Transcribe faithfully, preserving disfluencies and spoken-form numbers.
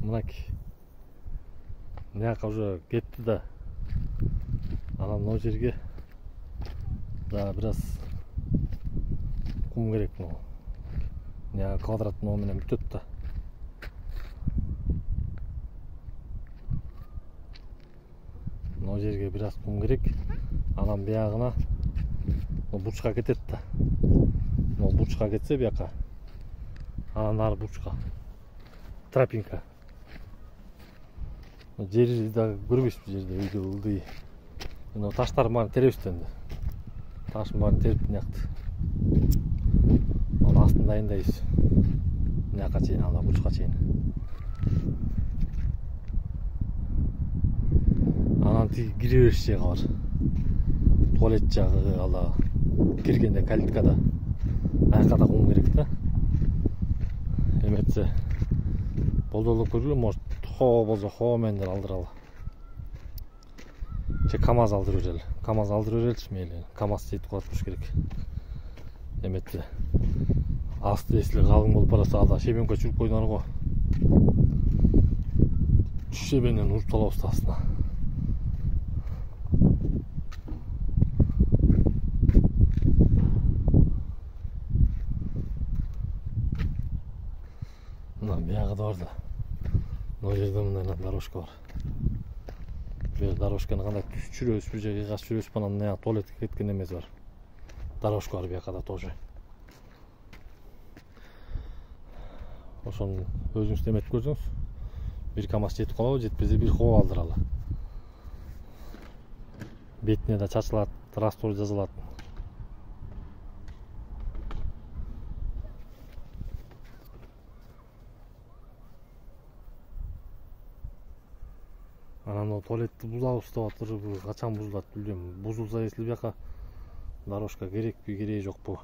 мынакей. Мынаяка уже кетти да. Анан могу жерге да бираз кум керек могу. Мына квадрат могу менен бүтөт да. Могу жерге бираз кум керек. Анан биягына бурчка кетет да. Могу бурчка кетсе бияка. Анан ары бурчка. Тропинка. Жери да көрбөйсүз жерде үйдө ылдый. Мына таштар баарын теребиз энди. Таштын баарын терип мынакты. Анын астын дайындайбыз. Мынаяка чейин ала бурчка чейин. Анан тиги кире бериш жагы бар. Туалет жагы ала киргенде калиткада. Аяка да кум керек да. Эметсе болдолуп көргүлө, может хоо болсо хоо менен алдыралы. Же КамАЗ алдырып берели. КамАЗ алдырып береличи мейли. КамАЗ жетип калат болуш керек. Эметсе асты эсли калың болуп барса ада шебенке чүрүп койдуңар го. Шебенен уруп салабыз астына. Мына биягы да бар да. Мына жерде мындай дорожка бар. Бу дорожканы кандай түз жүрөбүзбү же кыйгас жүрөбүзбү, анан мына туалетке кеткен эмес бар. Дорожка бар бияка да тоже. Ошону өзүңүз эметип көрсөңүз, бир КамАЗ жетип калабы, жетпесе бир хоо алдыралы. Бетине да чачылат, раствор жазылат. Анан туалетти бузабыз деп атыр, качан бузулат билбейм. Бузулса эсли бияка дорожка керекпи, кереги жокпу?